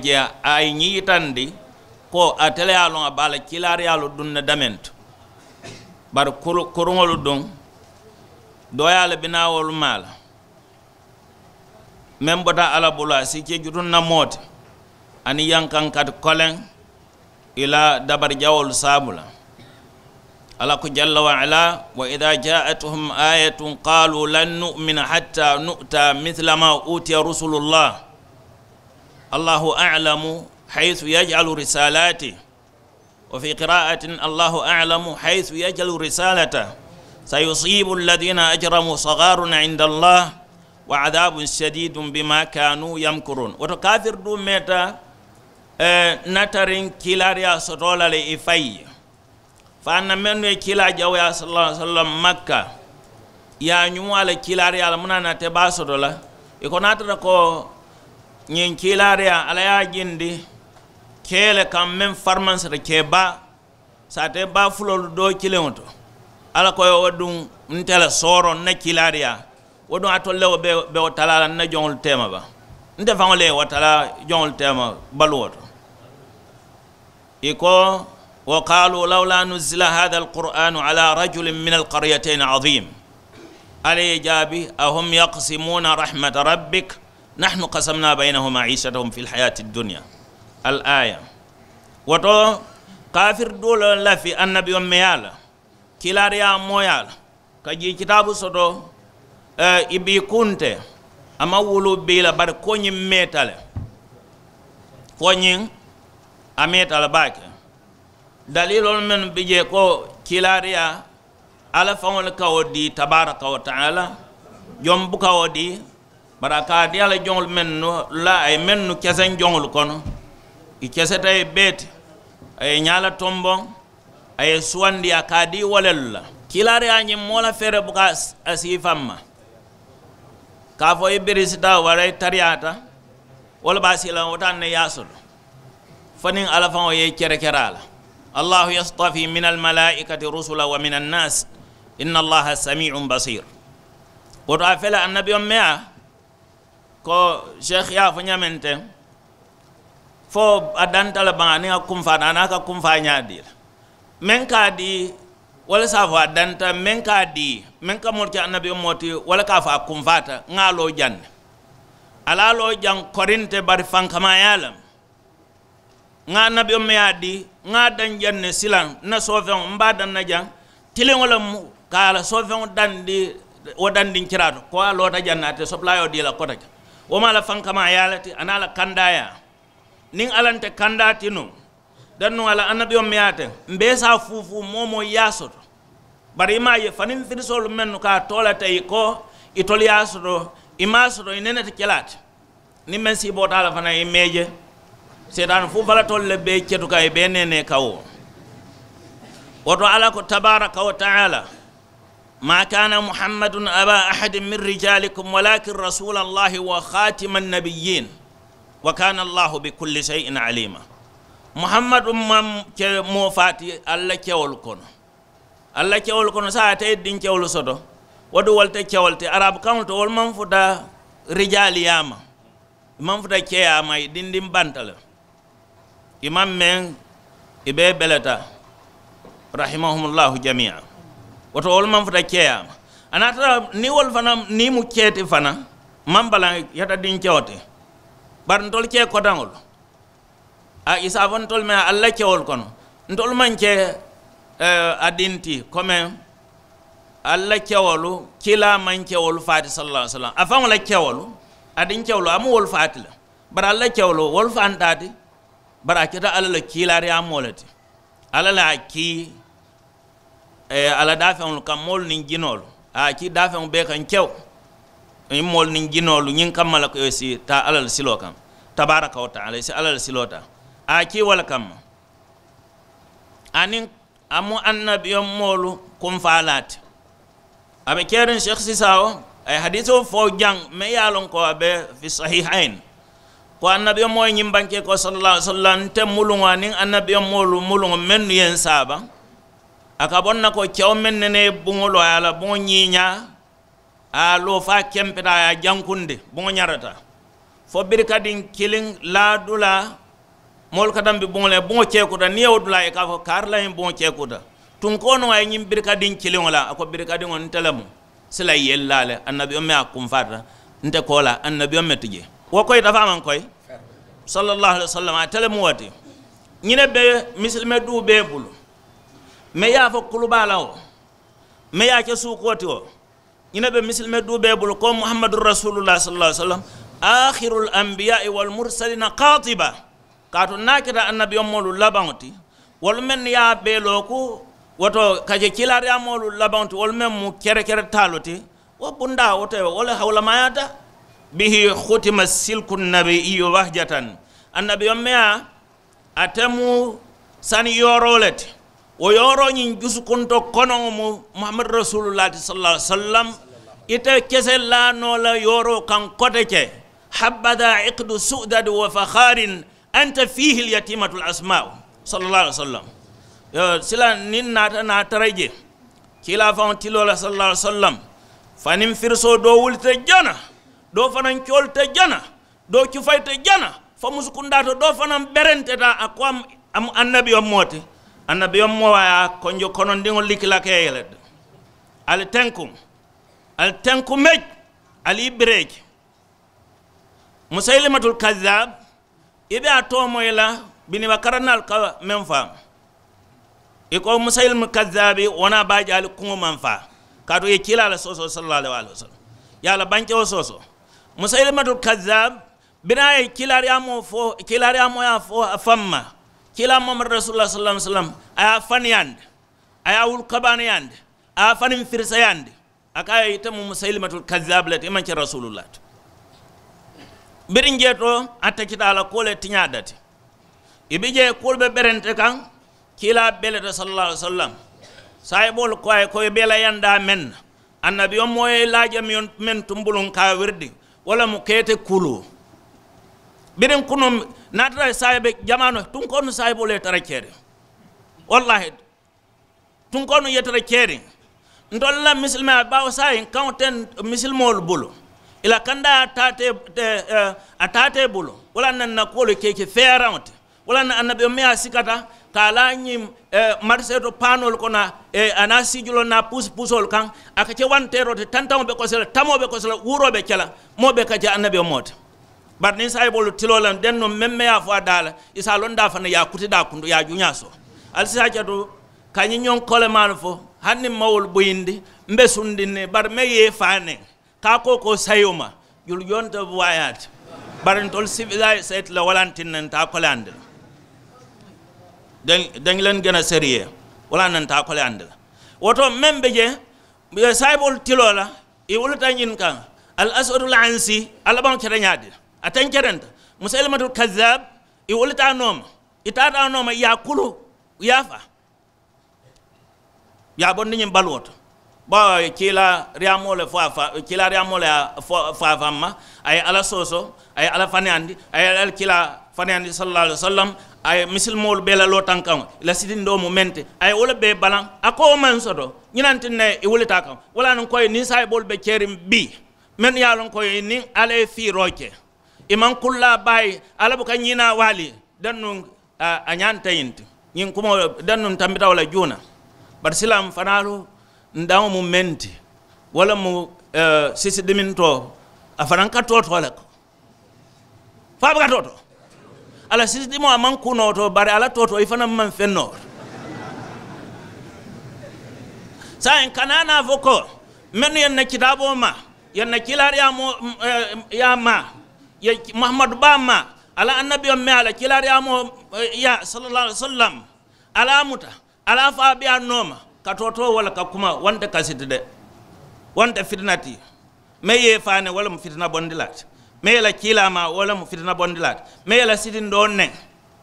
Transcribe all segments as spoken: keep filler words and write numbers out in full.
je a ye ñiŋ yitandi ko ate le ye a loŋ a be a la kiilaariyaalu duŋ ne damentu. Bari kuruŋolu duŋ dooyaa le bi naa wolu maa la meŋ bota alla bulu a si ke jutunna moo ti aniŋ yankankati koleŋ i la dabari jawoolu saabu la. Alla ko jalla wa ala, wa ida jaatuhum ayatun qalu lan nu'mina hatta nu'ta mithla ma utiya rusulullah. Allahu alamu haythu yaj'alu risalati. Wa fi qira'atin allahu alamu haythu yaj'alu risalata. Sayusibu alladhina ajramu sagharun inda allah wa adhabun shadidun bima kanu yamkurun. Woto kafir du meta natariŋ kiilaariyaa sotoo la le i fayi. Fo a na mennu ye kiilaa jawuyaa sallallahu alaihi wasallam makka i ye a ñumu a la kiilaariyaa la muŋ na a te baa soto la. I ko niŋ a tara ko ñiŋ kiilaariyaa alla ye a jindi kee le kaŋ meŋ farimansata kee baa saatee baa fuloolu doo kiliŋo to. Alla ko ye wo duŋ nte la sooroŋ n na kiilaariyaa wo duŋ alitolu le wo be wo talaa la n na joŋolu teema ba? Nte faŋo le ye wo talaa joŋolu teema baluwo to. I ko, wa qalu lawla nuzila hada alquranu ala rajulin min alqaryatayn azim. Alla ye jaabi, ahum yaqsimuna rahmata rabbik nahnu qasamna baynahum maishatahum fi lhayati ddunya. Al aya. Woto kafiri doo le lafi annabiyoŋ meyaa la kiilaariyaa mooyaa la ka jii kitaabu soto. I bii kunte a maŋ wuluu bii la bari ko ñiŋ meeta le. Ko ñiŋ a meeta le baake. Daliiloolu mennu bi jee ko kiilaariyaa alla faŋo le ka wo dii tabaaraka wa taala. Joŋ buka wo dii bari a ka a dii a la joŋolu mennu la a ye mennu keseŋ joŋolu kono i keseta ye bee ti. A ye ñaa la tomboŋ a ye suwandi a ka a dii wo lelu la. Kiilaariyaa ñiŋ moo la feere buka a siifaŋ ma ka a fo i birisita wara i tariyaata. Wo le be a sii la wo taŋ na i ye a soto fo niŋ alla faŋo ye i kerekere a la. Allahu yastafi min almalaikati rusula wa min annas inna allaha samiun basir. Woto a fele annabiyoŋ meyaa ko sheikh ye a fo ñameŋ teŋ fo a danta le baŋ aniŋ a kunfaata aniŋ a ka kunfaa ñaa dii la. Meŋ ka a dii wo le se a fo a danta meŋ ka a dii meŋ ka moolu ke annabiyoŋ moo ti wo le ka a fo a kunfaata ŋa a loo jaŋ ne. A la a loo jaŋ korinte bari fankamaayaa le. Ŋa annabiyoŋ meŋ ye a dii ŋa a daŋ jaŋ ne silaŋ n na soofeŋo m be a daŋ na jaŋ tiliŋo le mu ka a la soofeŋo dandi. Wo dandiŋ kiraa to ko a loota jaŋ ne a te sopulaayoo dii la kota jaŋ. Wo mu a la fankamaayaa le ti aniŋ a la kandaayaa. Niŋ alla nte kandaa ti nuŋ dannuŋ a la annabiyoŋ meŋ ye a te m be i se a fuufuu moo moo i ye a soto. Bari i maŋ a je faniŋ firisoolu mennu ka a too le te i ko itolu ye a soto i maŋ a soto i nene te ke le a ti. Niŋ meŋ siiboota a la fanaa i meeje seetaani fuufalatoolu le be i cetu kaŋ i be i neenee kaŋ wo. Wo to alla ko tabaaraka wa taala, ma kana muhammadun aba ahadin min rijalikum walakin rasula allahi wa khatima annabiyin wa kana allahu bi kulli shay'in alima. Muhammadu maŋ ke moo faa ti alla kewolu kono. Alla kewolu kono saayiŋ ate ye dinkewolu soto wo duŋ wolu te kewolu ti arabu kaŋolu to wolu maŋ futa rijaaliyaa ma. I maŋ futa keeyaa ma i dindiŋ banta le. I maŋ meŋ i bee beleta rahimahumullahu jamia. Wo to wolu maŋ futa keeyaa ma a naata niŋ wolu fanaŋ niŋ i mu kee ti fanaŋ maŋ balaŋ yata dinkewo ti. Bari ntolu kee kotaŋolu a i se a fo ntolu meŋ alla kewolu kono ntolu maŋ ke a dinti komeŋ. Alla kewolu kiilaa maŋ kewolu faati sallallaahu alayhi wasallam a faŋo la kewolu a diŋ kewolu a mu wolu faati le. Bari alla kewolu wolu fantaa ti. Bari a keta alla la kiilaariyaamoo le ti. Alla le a kii a la daafeŋolu kaŋ moolu niŋ jinoolu a ye a kii daafeŋo bee kaŋ kewo. Ñiŋ moolu niŋ jinoolu ñiŋ kamma la ko i si taa alla la siloo kaŋ tabaaraka wa taala i si alla la siloo taa a ye a kii wo le kamma. Aniŋ a mu annabiyoŋ moolu kunfaalaa ti. A be keriŋ sheikh sisaawo a ye hadiisoo fo jaŋ meŋ ye a loŋ ko a be fi sahihayin ko annabiyoŋ moo ye ñiŋ bankee ko sallallaahu alayhi wasallam nte muluŋo aniŋ annabiyoŋ moolu muluŋo mennu ye n saaba. A ka boŋ na ko kewo meŋ nene ye buŋo loo a ye a la buŋo ñiiñaa a ye a loo fo a kempeta a ye a jankundi buŋo ñarata. fo birikadiŋ kiliŋ laa dulaa moolu ka tambi buŋo le buŋo ceekuta niŋ ye wo dulaa ye ka a fo kaari la ñiŋ buŋo ceekuta. Tunkoo nuŋ a ye ñiŋ birikadiŋ kiliŋo la a ko birikadiŋo nte le mu sila yellaa le annabiyoŋ me a kunfaata. Nte ko la annabiyoŋ me ti je wo koyita fo a maŋ koyi. Sallallahu alaihi wasallam a tele mu wo ti. Ñine be misilime duu bee bulu me ye a fo kulubaa la wo me ye a ke suukoo ti wo. Ñine be misilime duu bee bulu ko muhammadu rasulullah sallallahu alaihi wasallam akhirul anbiya'i wal mursalina qatiba. Kaatu niŋ a keta annabiyomoolu labaŋo ti wolu mennu ye a bee looku woto ka je kiilaariyaamoolu labaŋo ti wolu meŋ mu kerekere taalu ti. Wo bundaa wo te wo le hawulamayaata bihi khutima silku nabiyiyu bahjatan. Annabiyomeyaa ate mu sani yooroo le ti. Wo yooroo ñiŋ jusukunto konoŋo mu muhammadu rasulullah ti sallallahu alaihi wasallam. Ite kese laanoo la yooroo kaŋ kote ke habbada iqdu su'dadi wa fakharin anta fihi lyatimatul asma'u. Sallallahu alaihi wasallam. Sila niŋ naata naa tara je kiilaa faŋo tiloo la sallallahu alaihi wasallam. Faniŋ firisoo doo wulita jana doo fanaŋ coolita jana doo cufayita jana fo musukundaa to doo fanaŋ berenteta a ko a mu annabiyoŋ moo ti. Annabiyoŋ moo a ye a konjo konondiŋo likilakee ye le. Ali tenkuŋ ali tenkumeej ali i bireeji. Musaylimatul kazab i be a toomoyi la biniba karanaalu ka meŋ faa. I ko musaylimatul kazabi wo naa baa jaali kuŋo maŋ faa. Kaatu i ye kiilaa la soosoo sallallahu alaihi wasallam ye a la bankewo soosoo. Musaylimatul kazab biriŋ a ye kiilaariyaamoo fo kiilaariyaamoo ye a fo a faŋ ma kiilaa muhammadu rasulullah sallallahu alaihi wasallam a ye a faniyandi a ye a wulu kabaaniyandi a ye a faniŋ firisayaandi. A ko a ye ite mu musaylimatul kazab le ti i maŋ ke rasulullah ti. Biriŋ jee to a takita a la kuwo le tiñaa dati. I bi jee kuwolu be berente kaŋ kiilaa beleta sallallahu alaihi wasallam. Saayiboolu ko a ye ko i be la yandaa meŋ na annabiyoŋ moo ye laaja meŋ tumbuluŋ ka a wiridi wo le mu keete kulu. Biriŋ kunuŋ naatara saayibe jamaano tunkoonu saayiboolu ye tara keeriŋ. Wallahi tunkoonu yetara keeriŋ. Ntolu la misilima baawo saayiŋ kaŋo te misilimoolu bulu i la kandaa a taatee bulu. Wala naŋ na kuwolu ke ke feeraŋo ti wala naŋ annabiyoŋ meŋ ye a sikata ka a la ñiŋ marisee to paanoolu kono a naa siijuloo naa puusi puusoolu kaŋ. A ka ke wanteeroo ti tantaŋo be kosi la tamoo be kosi la wuuroo be ke la moo be ka ke annabiyoŋ moo ti. Bari niŋ saayiboolu tiloo la dennuŋ meŋ meŋ ye a fo a daa la i se a loŋ daa fanaŋ ye a kuti daa kuntu ye a juñaa soo. Ali si a ke to ka ñiŋ ñoŋ kolemaalu fo hani niŋ ma wolu buyindi mbe sundiŋ ne bari meŋ ye i faa neŋ ka a kookoo sayoo ma. Julu jonte buwaayaa ti bari ntolu sibilaa ye sayiti la wala ntiŋ ne nte a koleyaandi la. Daŋ len gena seriyee wala na nte a koleyaandi la. Wo to meŋ be jee saayiboolu tiloo la i wuluta ñiŋ kaŋ. Al aswadul ansi a labaŋo keta ñaadi a teŋ kerenta musaylimatul kazab. I wuluta a nooma i taata a nooma i ye a kulu i ye a faa. I ye a bondi ñiŋ baluwo to bawo a ye kiilaariyaamoo le fo a fa kiilaariyaamoo le ye a fo a famma. A ye alla soosoo a ye alla faniyandi a ye alla kiilaa faniyandi sallallahu alaihi wasallam. A ye misilimoolu bee la lootankaŋo i la sitindoo mu meŋ ti a ye wo le bee balaŋ. A ko wo maŋ soto ñinantiŋ ne i wulita a kaŋ. Wala niŋ ko i niŋ saayiboolu be keeriŋ bii mennu ye a loŋ ko i niŋ alla ye fiiroo ke i maŋ kullaa baayi. Alla buka ñiinaa waali dennuŋ a ñanta ñiŋ ti ñiŋ kumoo dennuŋ tambita wo la juuna. Bari silaŋ fanaalu ndaŋo mu meŋ ti wo le mu sisi dimintoo a fanaŋ ka tootoo le ko. Fo a buka tootoo a la sisi dimoo a maŋ kunoo to bari a la tootoo i fanaŋ maŋ feŋ noo. Saayiŋ kana naa fo ko mennu ye n na kitaaboo maa ye n na kiilaariyaamoo yaa maa ye muhammadu baa maa a la annabiyoŋ mee a la kiilaariyaamoo yaa sallallahu alaihi wasallam. A la a muta a la a fo a be a nooma ka tootoo wo le ka kuma wo nte kasiti de. Wo nte fitina ti meŋ ye i faa ne wo le mu fitina bondilaa ti meŋ ye i la kiilaa maa wo le mu fitina bondilaa ti meŋ ye i la sitindoo neŋ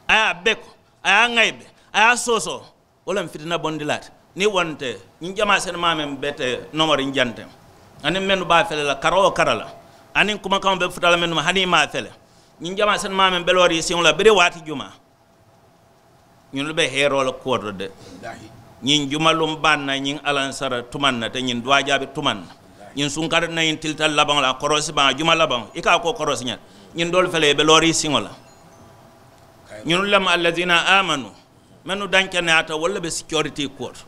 a ye a beko a ye a ŋayibe a ye a soosoo. Wo le mu fitina bondilaa ti niŋ wo nte ñiŋ jamaa senimaa meŋ be te nomoriŋ janteŋ aniŋ mennu be a fele la kara wo kara la aniŋ kumakaŋo be futa la mennu ma hani i maŋ a fele. Ñiŋ jamaa senimaa meŋ be looriŋ i siŋo la biriŋ waati jumaa ñunnu be heeroo la kuwo to de. Ñiŋ jumaluŋ baŋ na ñiŋ alansara tumaŋ na te ñiŋ duwaajaabi tumaŋ na ñiŋ sunkari na ñiŋ tilita labaŋo la a koroosi baŋ a juma labaŋo i ka a ko koroosi ñaŋ. Ñiŋ doolu fele i be looriŋ siŋo la. Ñunu lemu alladina amanu, mennu dankeneyaata wolu le be security kuwo to.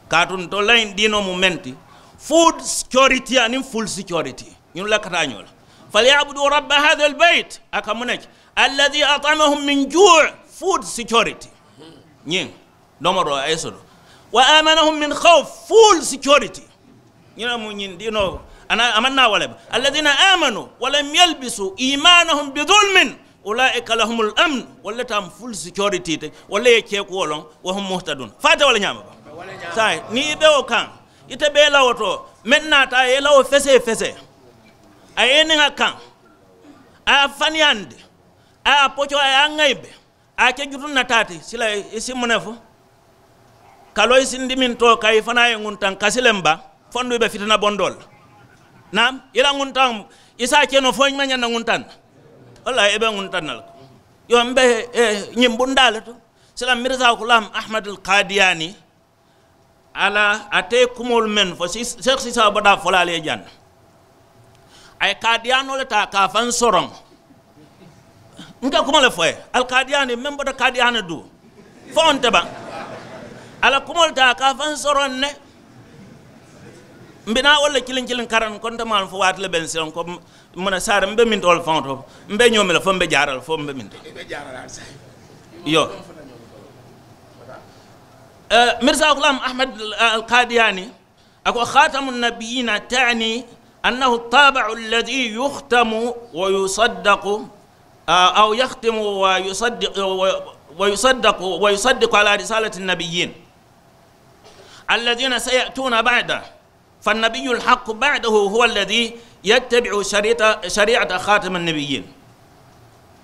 Kaatu ntolu la ñiŋ diinoo mu meŋ ti, food security aniŋ full security, ñunu la ka taa ñoo la. Falyabudu rabba hada albayt, a ka muŋ ne ke? Alladi atamahum min juu. Food security, ñiŋ domoroo a ye soto. Wa amanahum min khawf, full security. Ñiŋ mu ñiŋ diinoo, a maŋ naa wo le ba? Alladina amanu walam yalbisu imanahum bi zulmin, ulaika lahumul amn. Wolu le taamu full security ti, wolu le ye kee kuwo loŋ. Wa hum muhtadun, fo a te wo le ñaama ba? Saayiŋ niŋ i be wo kaŋ, ite be i la wo to, meŋ naata a ye i la wo fesee fesee, a ye i niŋ a kaŋ, a ye a faniyandi, a ye a pocoo, a ye a ŋayibe, a ye ke jutuŋ na taa ti sila, i si muŋ ne fo? Ka loŋ i si n dimiŋ too kaŋ i fanaa ye ŋuntaŋ kasi le m ba? Fonduu i be fitina bondoo le la. Naam, i la ŋuntaŋ, i si a ke noo fo i maŋ ñaŋ na ŋuntaŋ na. Wallaahi i be ŋuntaŋ na le ko. Yo m be ñiŋ bundaa le to, sila mirisa kulaam ahmad al kadiyani. Ala a te kumoolu meŋ fo, seeku sisaa badaa fo la ali ye jaŋ na. A ye kaadiyaanoo le taa ka a faŋ soroŋ. N ka kuma le fo ye, alkaadiyaani meŋ bota kaadiyaani duu, fo nte ba? A la kumoolu taa ka a faŋ soroŋ ne. Mbi naa wolu le kiliŋ kiliŋ karaŋ ko nte maalu fo waati le be n siloŋ ko, mu ne saari m be mintoolu faŋo to, m be ñoo mi la fo m be jaara la fo m be minto. Yo. Mirisa gulam ahmad, alkadiyani, a ko khatamu nabiyina tani annahu tabiu alladhi yukhtamu wa yusaddaku, aw yakhtimu wa yusaddiku wa yusaddiku ala risalati nabiyin alladhina sayatuna bada. Fannabiyu alhaqu badahu huwa alladhi yattabiu shariata khatami nabiyin.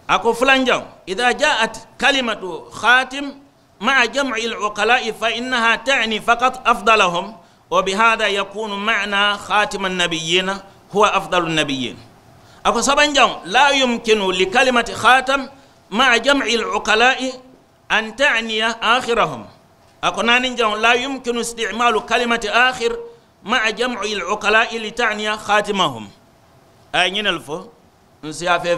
A ko fulanjaŋ, idha jaat kalimatu khatim maa jamci alukalai fa innaha tani fakat afdalahum. Wa bihada yakunu mana khatima annabiyina huwa afdalu annabiyin. A ko sabanjaŋ, la yumkinu likalimati khatam maa jamci alukalai an taniya akhirahum. A ko naaniŋ jaŋo la yumkinu istimalu kalimati akhir maa jamci alukalai li taniya khatimahum. A ye ñinel fo n si a fe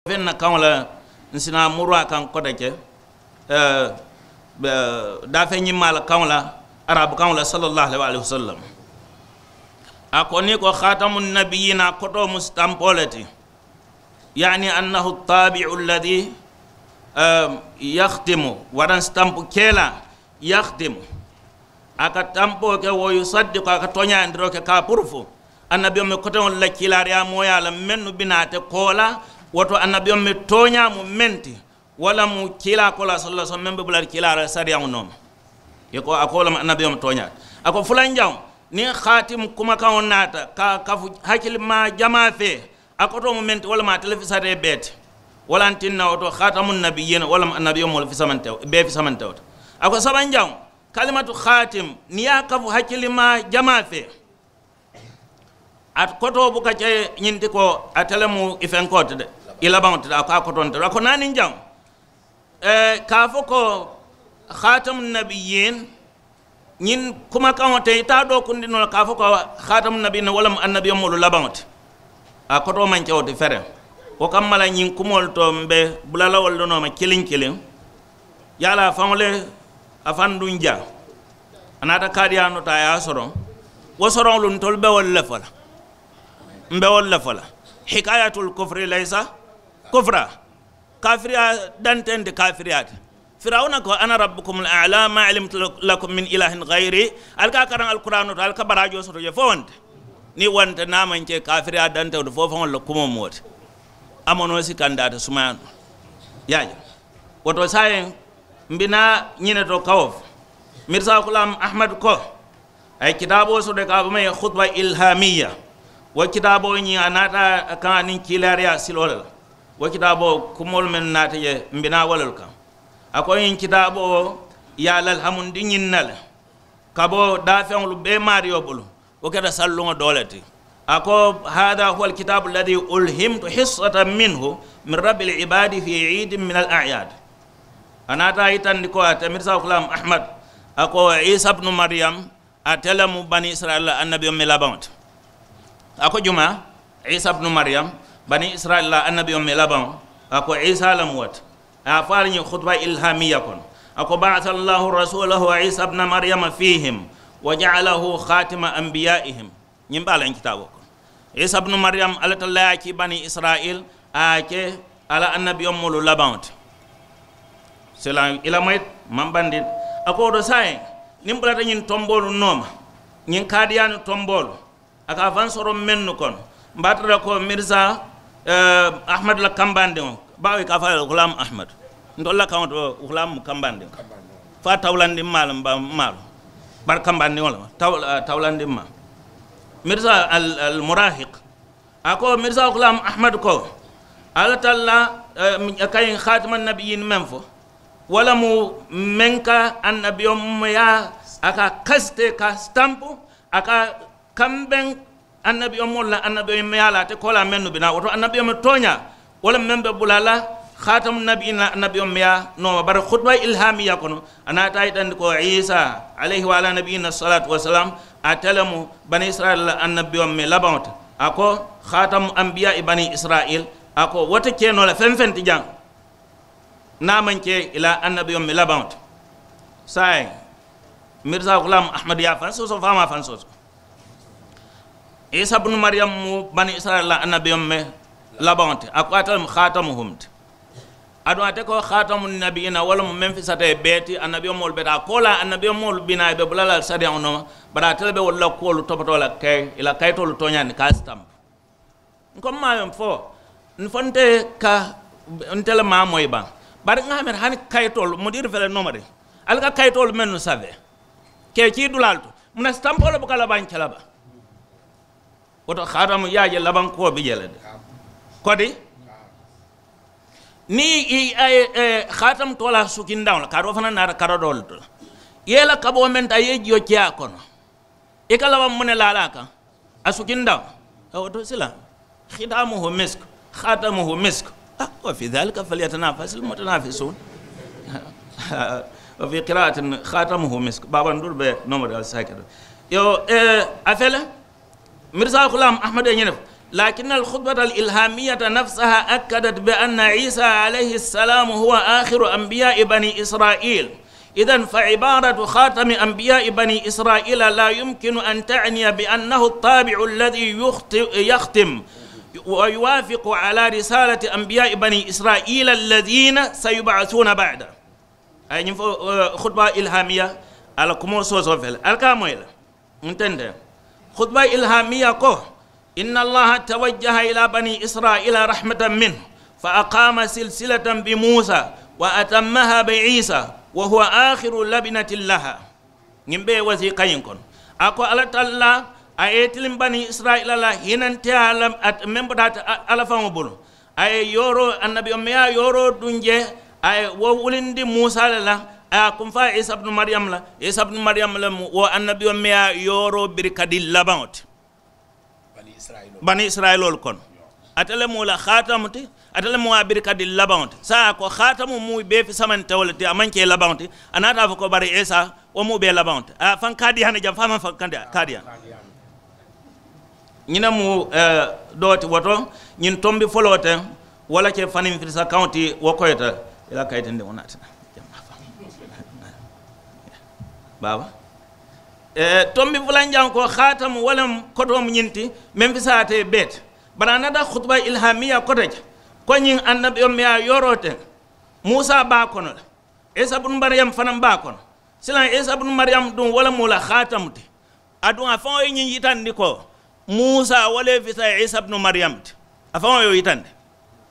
feŋ na kaŋo la, n si naa muru a kaŋ kote ke daafeŋ ñimmaa la kaŋo la, arabu kaŋo la sallallahu alayhi wa sallam. A ko niŋ ko khatamu nabiyina koto mu sitampoo le ti. Yaani annahu tabiu alladhi yakhtimu, waraŋ sitampu keela yakhtimu. A ka tampoo ke wo yusaddiku a ka tooñayandiroo ke ka a purufu annabiyoŋ mi koteŋolu la kiilaariyaa mooyaa la mennu bi naa te koola. Wo to annabiyoŋ mi tooñaa mu meŋ ti, wo le mu kiilaa koolaa salla sallam meŋ be bula kiilaa la sariyaŋo nooma. I ko a ko wo le mu annabiyoŋ mi tooñaa ti. A ko fulanjaŋo, niŋ khaatimu kumakaŋo naata ka a kafu hakilimaa jamaa fee, a kotoo mu meŋ ti wo le mu a telefisaree bee ti. Wo le a tinna wo to khatamu nabiyina wo le mu annabiyoŋ moolu fisamante bee fisamante wo to. A ko sabanjaŋo, kalimatu khatim niŋ ye a kafu hakilimaa jamaa fee, a kotoo buka ke ñiŋ ti ko ate le mu i fenkoo ti de, i labaŋo ti de. A ko a kotoo nte a ko naaniŋ jaŋo, ka a fo ko khatamu nabiyin, ñiŋ kumakaŋo te i taa doo kundi noo la ka a fo ko khatamu nabiyin wo le mu annabiyoŋ moolu labaŋo ti. A kotoo maŋ ke wo ti fereŋ. Wo kamma la ñiŋ kumoolu to m be bula la wolu le nooma kiliŋ kiliŋ. Ye a la a faŋo le a faŋ duŋ jaa. A naata kaadiyaanoo to a ye a soroŋ. Wo soroŋolu ntolu be wolu le fo la. M be wolu le fo la. Hikayatul kufri laysa kufra. Kafiriyaa danteŋ ti kafiriyaa ti. Firawuna ko ana rabbukum ala ma alimtu lakum min ilahin gayri. Ali ka a karaŋ alkuraanoo to ali ka baraajoo soto je fo wonte. Niŋ wonte niŋ a maŋ ke kafiriyaa danteŋo ti fo faŋolu la kumoo mu wo ti. A manoo si kandaata sumayaanoo. Ye a je. Wo to saayiŋ, mbi naa ñiŋ ne to kawo fo. Mirisa kulaam ahmad ko a ye kitaaboo soto ka a bamaŋ ye khutba ilhamiya. Wo kitaaboo ñiŋ a naata a kaŋ aniŋ kiilaariyaa siloo le la. Wo kitaaboo kumoolu mennu naata ye mbi naa wo lelu kaŋ. A ko ñiŋ kitaaboo ye a lalhamundi ñiŋ na le. Ka bo daafeŋolu bee maariyo bulu. Wo keta salluŋo doo le ti. A ko hada huwa alkitabu alladi ulhimtu hissatan minhu min rabbi alibadi fi idin min al ayad. A naata a yitandi ko ate mirisa kulam ahmad, a ko isa bnu mariyam, ate le mu bani israila la annabiyoŋ mi labaŋo ti. A ko juma? Isa bnu mariyam, Bani Israyila la annabiyoŋ meŋ labaŋo, a ko Isa le mu wo ti. A ye a fo a la ñiŋ hutuba ilhamiya kono, a ko, "Ba'asa Allahu rasulahu Isa bna Maryama fihim, wa ja'alahu khatima anbiya'ihim." Ñiŋ be a la ñiŋ kitaaboo kono. Isa bnu Maryam, Alla Taala ye a ke Bani Israyila, a ye a ke a la annabiyoŋ moolu labaŋo ti. Silaŋ i la moyi maŋ bandi. A ko wo to saayiŋ, niŋ bulata ñiŋ tomboolu nooma, ñiŋ kaadiyaani tomboolu, a ka a faŋ soro mennu kono, mbe a tara ko Mirisa Ahmadu la kambandiŋo, baawo i ka a fo a ye le Gulaamu Ahmadu. Ntolu la kaŋo to Gulaamu mu kambandiŋo, fo a tawulandiŋ maa le mbe a maalu, bari kambandiŋo le mu tawulandiŋ maa. Mirisa al murahik, a ko Mirisa Gulaamu Ahmadu ko, Alla Taala ka ñiŋ xaatima nabiyiini meŋ fo, wo le mu meŋ ka annabiyoŋ meyaa, a ka a kasite ka a sitampu, a ka a kambeŋ annabiyoŋ moolu la annabiyoŋ meyaa la ate koolaa mennu bi naa. Wo to annabiyoŋ meŋ tooñaa, wo le meŋ be bula la xaatamu nabiyiina la annabiyoŋ meyaa nooma. Bari hutuba ilhamiya kono, a naata a yitandi ko Isa, alayhi wa ala nabiyina salatu wasalam, ate le mu Bani Israyila la annabiyoŋ meŋ labaŋo ti. A ko, "Xaatamu anbiya i Bani Israyila." A ko, "Wo te ke noo la feŋ feŋ ti jaŋ, niŋ a maŋ ke i la annabiyoŋ meŋ labaŋo ti." Saayiŋ, Mirisa Gulaamu Ahmadu ye a faŋ soosoo, fo a maŋ a faŋ soosoo. Isa bunu Mariyamu mu Bani Israyila la annabiyoŋ meŋ labaŋo ti, a ko ate le mu xaatamuhum ti. Aduŋ ate ko xaatamu nabiyiina, wo le mu meŋ fisata i bee ti, annabiyoŋ moolu be taa koolaa, annabiyoŋ moolu bi naa, i be bula la sariyaŋo nooma, bari ate le be wolu la kuwolu topotoo la, ka i la kayitoolu tooñaandi ka a sitampu. N ko, m̀ maŋ a meŋ fo, n fo nte ka nte le maŋ a moyi baŋ. Bari ŋà a mera hani kayitoolu, mudiiri fele nooma de, ali ka kayitoolu mennu save, ka i kii dulaalu to, muŋ na sitampoo le buka labaŋ ke la baŋ? Wo to xaatamu i ye a je labaŋ kuwo bi je le de. Kodi niŋ i ye xaatamu toolaa sukindaŋo la, kaatu wo fanaa naata kara doolu to le, i ye i la kaboo meŋ taa i ye jiyo ke a kono, i ka labaŋ muŋ ne laa a la a kaŋ? A sukindaŋo. Wo to sila, xitaamuhu misk, xaatamuhu misk. Wa fi dhalika falyatanafasi lmutanafisuun. Wa fi qiraatin xaatamuhu misk. Baabanduuru be nooma de ali saakiro. Yo, a fele. Mirisa Ghulam Ahmad ye ñiŋ ne fo, لكن الخطبة الإلهامية نفسها أكدت بأن عيسى عليه السلام هو آخر أنبياء بني إسرائيل. إذن فعبارة خاتم أنبياء بني إسرائيل لا يمكن أن تعني بأنه الطابع الذي يخت-، يختم ويوافق على رسالة أنبياء بني إسرائيل الذين سيبعثون بعده. A ye ñiŋ fo, hutuba ilhamiya, a la kumoo soosoo fele, ali ka a moyi le. Nte nte, hutuba ilhamiya ko, إن الله توجه إلى بني إسرائيل رحمة منه، فأقام سلسلة بموسى، وأتمها بعيسى، وهو آخر لبنة لها. Ñiŋ bee wasiiqa ñiŋ kono, a ko, Alla Taala, a ye i tiliŋ Bani Israyila la hinanteyaa la, meŋ bota ate Alla faŋo bulu. A ye yooroo, annabiyoŋ meŋ ye a yooroo duŋ jee, a ye wo wulindi Musa le la, a ye a kunfaa Isa bunu Mariyamu la. Isa bunu Mariyamu le mu wo annabiyoŋ meŋ ye a yooroo birikadii labaŋo ti Bani Isirayiloolu kono. Ate le mu wo la xaatamu ti, ate le mu wo a birikadii labaŋo ti. Saayiŋ a ko xaatamu mu bee fisamantewo le ti, a maŋ ke labaŋo ti. A naata a fo ko bari Isa, wo mu bee labaŋo ti. A ye a faŋ kaadiyaani jaŋ, fo a maŋ faŋ kaadiyaani. Ñiŋ ne mu doo ti, wo to ñiŋ tombi foloo teŋ, wo le ke faniŋ firisa kaŋo ti, wo koyita i la kayitindiŋo naati. Baaba, tombi fulanjaŋo ko, xaatamu, wo le mu kotoo mu ñiŋ ti, meŋ fisaata i bee ti. Bari a naata hutuba ilhamiya kote je, ko ñiŋ annabiyoŋ meŋ ye a yooroo teŋ, Musa be a kono le, Isa bunu Mariyamu fanaŋ be a kono. Silaŋ, Isa bunu Mariyamu duŋ, wo le mu wo la xaatamu ti. Aduŋ a faŋo ye ñiŋ yitandi ko Musa wo le ye fisa Isa bunu Mariyamu ti. A faŋo ye wo yitandi.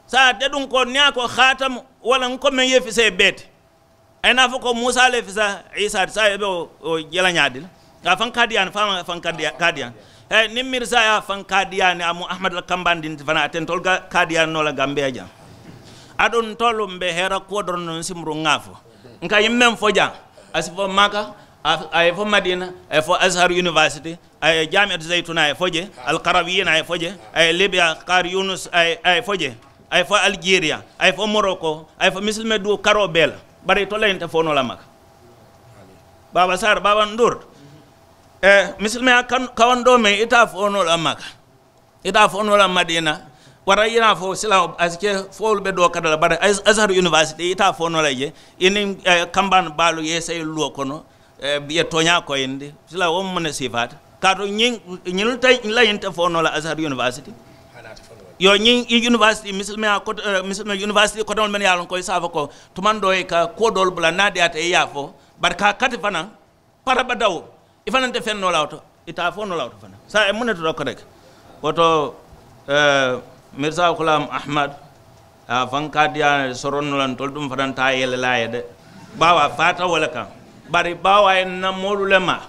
Saayiŋ ate duŋ ko niŋ a ko xaatamu, wo le n ko meŋ ye fisa i bee ti. A ye naa fo ko Musa le ye fisa Isa ti. Saayiŋ i be wo je la ñaadii le? A faŋ kaadiyaani, fo a maŋ faŋ kaadiyaani. Niŋ mirisa ye a faŋ kaadiyaani, a mu Ahamadu la kambandinti fanaa, ate ntolu ka kaadiyaani noo la Gambiya jaŋ. Aduŋ ntolu mbe heera kuwo doroŋ noŋ, n si muru ŋa a fo. N ka ñiŋ meŋ fo jaŋ, a si fo Maka, a ye fo Madina, a ye fo Azhar University, a ye Jamiatu Zaytuna, a ye fo je, Al Qarawiyina, a ye fo je, a ye Libya, Kari Yunus, a ye fo je, a ye fo Alijeriya, a ye fo Moroko, a ye fo misilime duu karoo bee la. Bari itolu la ñiŋ te fo noo la Maka. Baaba Saari, Baaba Nduuri, misilime ye a kawandoo meŋ, ite a fo noo la Maka. Ite a fo noo la Madina, Wara i ye naa fo sila a si ke foolu be doo kata la bari azhar university i taa fo noo la je i niŋ kambaani baalu ye sayi luwo kono. Ye tooñaa koyindi sila wo mu ne siifaata kaatu ñiŋ ñiŋ la ñiŋ te fo noo la azhar university. Yo ñiŋ university misilime university kotoŋolu men ye a loŋ ko i se a fo ko tumaŋ doo i ka kuwo doolu bula niŋ a diyaata i ye a fo bari ka a kati fanaŋ. Parabadawo i fanaŋ te feŋ noo la wo to i te a fo noo la wo to fanaŋ saayiŋ muŋ ne to doo kote ke. Wo to mirisa kulaam ahmad a faŋ ka diyaa soroŋ noo la ntolu duŋ fanaŋ te a yele la a ye de. Baawo a faata wo le kaŋ bari baawo a ye n na moolu le maa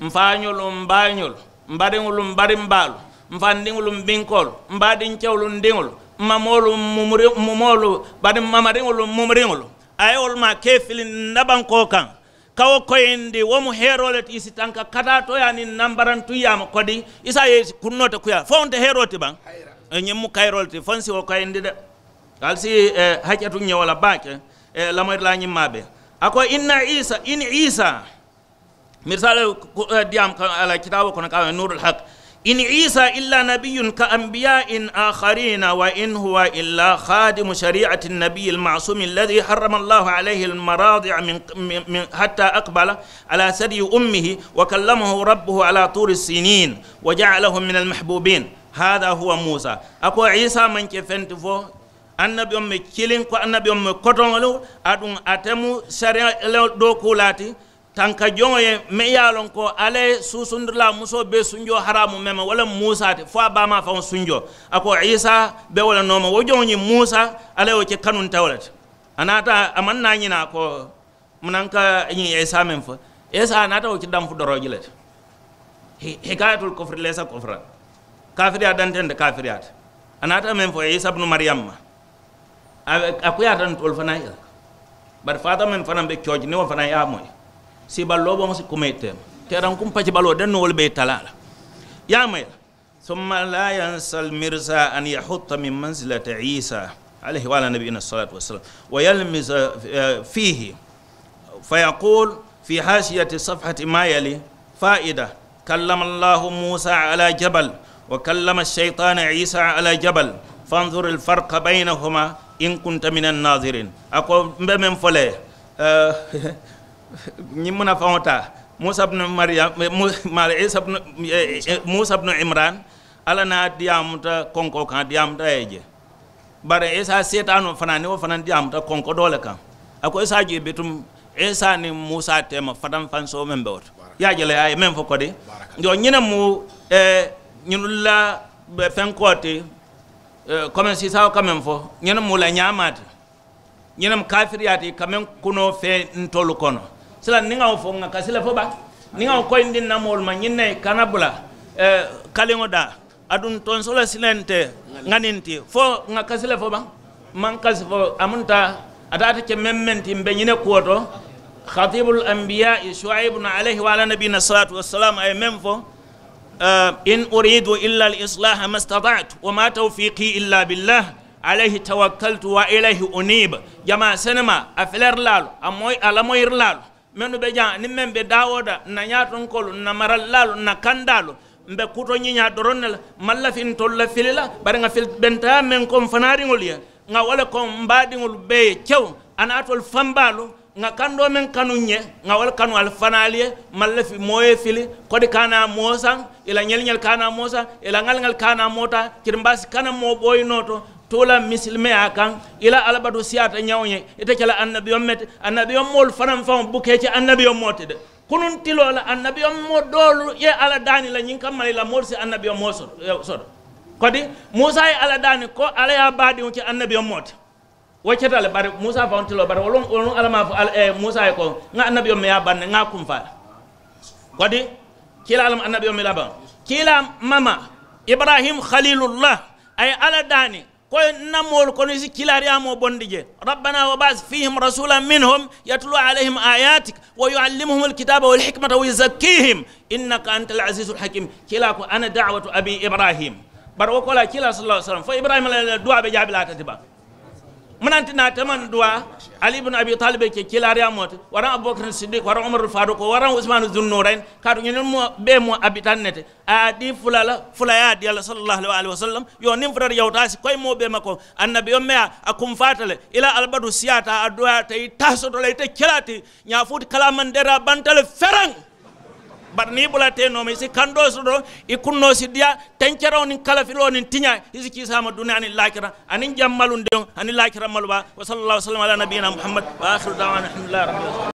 m faañolu m baañolu m bariŋolu m barimbaalu m fandiŋolu m binkoolu m baadiŋ kewolu m diŋolu m mamoolu m mumoolu bari m mamariŋolu m mumuriŋolu a ye wolu maa ka i fili n na bankoo kaŋ. Ka wo koyindi wo mu heeroo le ti i si tanka kataa tooyaa niŋ nambarantuŋ yaama kodi i se a ye i si kunnoo te kuyaa fo wo nte heeroo ti baŋ. Ñiŋ mu kayiroo le ti fo n si wo koyindi de. Ali si hakketuŋ ñe wo la baake. Lamoyirilaa ñiŋ maa be a ko inna isa in isa. Mirisaalu diyaamu ka a la kitaaboo kono ka a nuurul haq. إن عيسى إلا نبي كأنبياء آخرين وإن هو إلا خادم شريعة النبي المعصوم الذي حرم الله عليه المراضع من من حتى أقبل على ثدي أمه وكلمه ربه على طور سينين وجعله من المحبوبين هذا هو موسى. A ko isa maŋ ke feŋ ti fo annabiyoŋ me kiliŋ ko annabiyoŋ me kotoŋolu aduŋ ate mu sariya le dookuulaa ti. Tanka joŋo ye meŋ ye a loŋ ko alla ye suusundilaa musoo bee sunjoo haraamu meŋ ma wo le musa ti fo a baamaa faŋo sunjoo. A ko isa be wo le nooma wo joŋo ñiŋ musa alla ye wo ke kanunta wo le ti. A naata a maŋ naa ñina a ko munaŋ ka ñiŋ isa meŋ fo isa a naata wo ke danfu dorooji le ti. Hikayatul kofiri leesa kofira kafiriyaa dantente kafiriyaa ti. A naata meŋ fo isa bnu mariyam ma. A kuyaata ntolu fanaa ye la bari faata meŋ fanaŋ be cooji niŋ wo fanaa ye a moyi. Siibaloo boŋo si kuma ite ma teerankuŋ pacibaloo de noolu be i talaa la. Ye a moyi la. Summa la yansa almirsa an yahutta min mansilati isa alayhi wa ala nabiyina salatu wasalam wa yalmisa fihi. Fa yaqul fi hasiyati safhati ma yali. Faida. Kallama allahu musa ala jabal wa kallama alshaytana isa ala jabal. Fanzur alfarqa baynahuma in kunta min annazirin. A ko mbe men fole. Ñiŋ muna faŋo taa musa bnu mariyam mara isa bnu musa bnu imran. Alla na diyaamuta konko kaŋ diyaamuta ye je. Bari isa seetaanoo fanaa niŋ wo fanaŋ diyaamuta konko doo le kaŋ. A ko isa jee bitum isa niŋ musa teema fataŋ fansoo meŋ be wo to. Ye a je le a ye meŋ fo kodi. Yo ñine mu ñinulu la fenkoo ti. Komeŋ siisaawo ka meŋ fo ñine mu la ñaamaa ti. Ñine mu kafiriyaa ti ka meŋ kunoo fee ntolu kono. Sila niŋ ŋa wo fo ŋa kasi le fo ba? Niŋ ŋa wo koyindi n na moolu ma ñiŋ ne kana bula kaliŋo daa. Aduŋ tonso la silente ŋa niŋ ti fo ŋa kasi le fo baŋ. Maŋ kasi fo a munta a taata ke meŋ meŋ ti mbe ñine kuwo to. Khatibul anbiya shuaibun alayhi wa ala nabiyina salatu wassalam a ye meŋ fo. In uridu illa al islaha ma stata'tu wa ma tawfiqi illa billah. Alayhi tawakkaltu wa ilayhi unib. Jamaa senema a felerilaalu a lamoyirilaalu. Mennu be jaŋ niŋ meŋ be daawooda n na ñaatonkoolu n na marallaalu n na kandaalu. Mbe kuto ñiñaa doroŋ ne la maŋ lafi ntolu la fili la. Bari ŋa fili bentaya meŋ ko mfanaariŋolu ye ŋa wo le ko mbaadiŋolu bee ye kew a naatolu fambaalu. Ŋa kandoo meŋ kanu ñe ŋa wo le kanu ali fanaalu ye. Maŋ lafi moo ye fili kodi kaanaa moo saŋ i la ñeliñelu kaanaa moo saŋ i la ŋaliŋolu kaanaa moo taa kirimbaasi kana moo booyi noo to. Tuula misilimeyaa kaŋ i la alabatu siyaata ñawo ñe. Ite ke la annabiyoŋ mete annabiyoŋ moolu fanaŋ faŋo bukee ke annabiyoŋ moo ti de. Kunuŋ tiloo la annabiyoŋ moo doolu ye alla daani la ñiŋ kamma la i la moolu si annabiyoŋ moo soto. Kodi muusa ye alla daani ko alla ye a baadiŋo ke annabiyoŋ moo ti. Wo keta le bari muusa faŋo tiloo bari wolu wolu alla maa fo muusa ye ko ŋa annabiyoŋ me ye a baŋ ne ŋa a kumfaa le. Kodi kiilaa le mu annabiyoŋ me labaŋ kiilaa mama ibrahim khalilullah. A ye alla daani ko n na moolu kono i si kiilaariyaamoo bondi je. Rabbana wa ba'as fihim rasulan minhum yatlu alayhim ayatik wa yuallimuhum alkitaba walhikmata wa yuzakkihim innaka anta alazizu alhakim. Kiilaa ko ana dawatu abi ibrahim. Bari wo koolaa kiilaa sala allahu sallam fo ibrahima la duwaa be jaabilaa tati ba. Munaŋ ti naa te maŋ duwaa? Ali ibnu abi talibe ke kiilaariyaa moo ti, waraŋ abubakar siddiq, waraŋ umarul faruko, waraŋ usmanu zunnurayin. Kaatu ñiŋ moo bee moo abitan ne ti. A ye a dii fula la, fula ye a dii a la sallallahu alayhi wa sallam. Yo niŋ futata yawuta si koyi moo bee ma ko annabi yo meya a kumfaata le. I la albadu siyaata a duwaata i taa soto la i te kelaa ti. Ñaa fuuti kalaamandeeraa banta le fereŋ. Bari niŋ i bula tee nooma i si kandoo soto, i kunnoo si diyaa, tenkeraŋo niŋ kalafiloo niŋ tiñaa, i si kiisaama duniyaa niŋ laakira aniŋ jammalundiŋo aniŋ laakira malubaa. Wa sallallahu sallam ala nabiyina muhammad. Wa akhiru dawana alhamdulillahi rabbil alamin.